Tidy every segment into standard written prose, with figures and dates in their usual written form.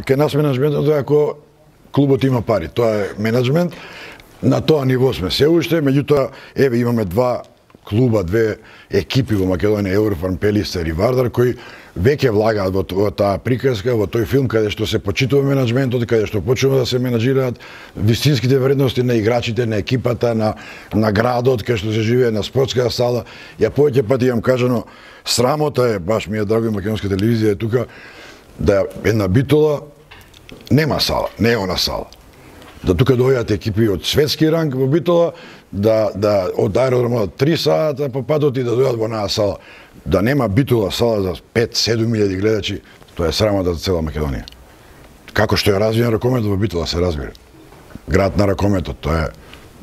кај нас менаџментот е ако клубот има пари, тоа е менаџмент. На тоа ниво сме се уште, меѓутоа еве имаме два клуба, две екипи во Македонија, Еврофарм, Пелистер и Вардар, кои веќе влагаат во таа приказка, во тој филм каде што се почитува менаџментот, каде што почнува да се менаџираат вистинските вредности на играчите, на екипата, на градот, каде што се живее, на спортската сала. Ја повеќе пати имам кажано, срамота е, баш ми е драго и македонска телевизија е тука, да една Битола нема сала, не е она сала. Да тука дојдат екипи од светски ранг во Битола, да од аеродромот 3 сата по патот и да дојдат во онаа сала. Да нема Битола сала за 5-7 илјади гледачи, тоа е срамота за цела Македонија. Како што е развиен ракометот во Битола, се разбира. Град на ракометот, тоа е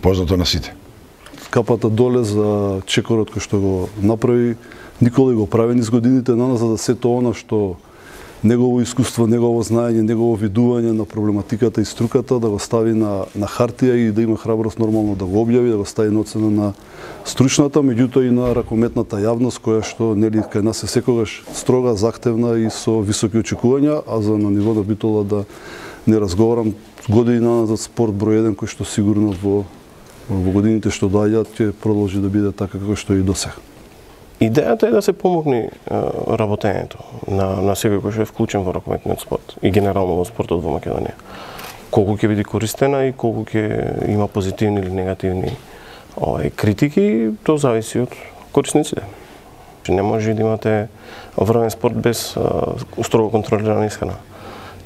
познато на сите. Капата доле за чекорот кој што го направи, Никола го прави низ годините за да сето она што негово искуство, негово знаење, негово видување на проблематиката и струката да го стави на хартија и да има храброст нормално да го објави, да го стави на оцена на стручната, меѓутоа и на ракометната јавност која што нели кај нас е секогаш строга, захтевна и со високи очекувања, а за на ниво на Битола да не разговарам години назад спорт број 1 кој што сигурно во годините што доаѓаат ќе продолжи да биде така како што и досега. Идејата е да се помогне работењето на секој кој што е вклучен во ракометниот спорт и генерално во спортот во Македонија. Колку ќе биде користена и колку ќе има позитивни или негативни критики, тоа зависи од корисниците. Не може да имате врвен спорт без строго контролирана исхрана.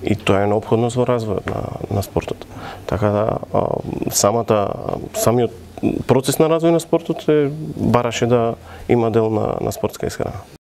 И тоа е неопходност во развојот на спортот. Така да самиот процес на развој на спортот бараше да има дел на спортска исхрана.